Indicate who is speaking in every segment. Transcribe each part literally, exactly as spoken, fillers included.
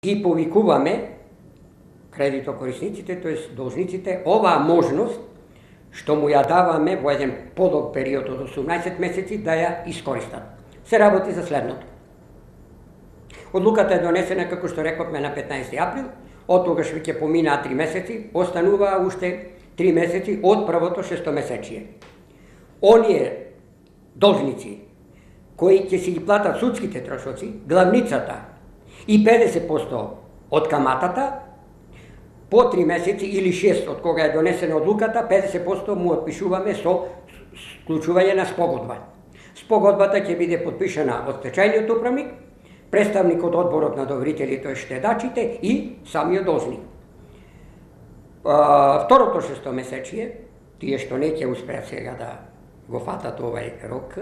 Speaker 1: ги повикуваме кредитокорисниците, тоест должниците, оваа можност што му ја даваме во еден подолг период од осумнаесет месеци да ја искористат. Се работи за следното. Одлуката е донесена, како што рековме, на петнаесети април, од тогаш веќе поминаа три месеци, остануваа уште три месеци од првото шестомесечие. Оние должници кои ќе си ги платат судските трошоци, главницата и педесет проценти од каматата, по три месеци или шест од кога е донесена одлуката, педесет проценти му отпишуваме со склучување на спогодба. Спогодбата ќе биде подпишана од стечајниот управник, представник од одборот на доверителите, тоест штедачите и самиот должник. Второто шестомесечие, тие што не ќе успеат сега да го фатат овај рок,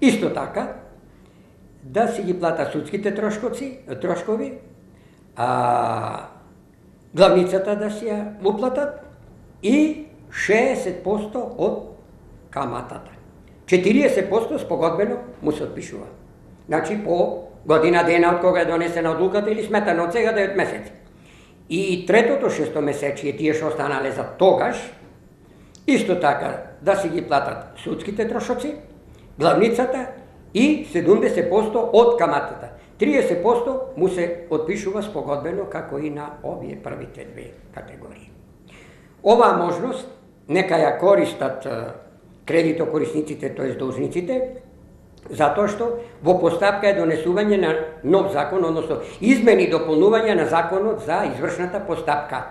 Speaker 1: исто така да си ги платат судските трошкови, трошкови, а главницата да си ја уплатат и шеесет проценти од каматата. четириесет проценти спогодбено му се отпишува. Значи по година дена од кога е донесена одлуката или сметано од сега девет месеци. И третото шестомесечие, тие што останале за тогаш, исто така да си ги платат судските трошоци, главницата и седумдесет проценти од каматата. триесет проценти му се отпишува спогодбено како и на овие првите две категории. Оваа можност нека ја користат кредитокорисниците, тоест должниците, затоа што во постапка е донесување на нов закон, односно измени и дополнување на законот за извршната постапка.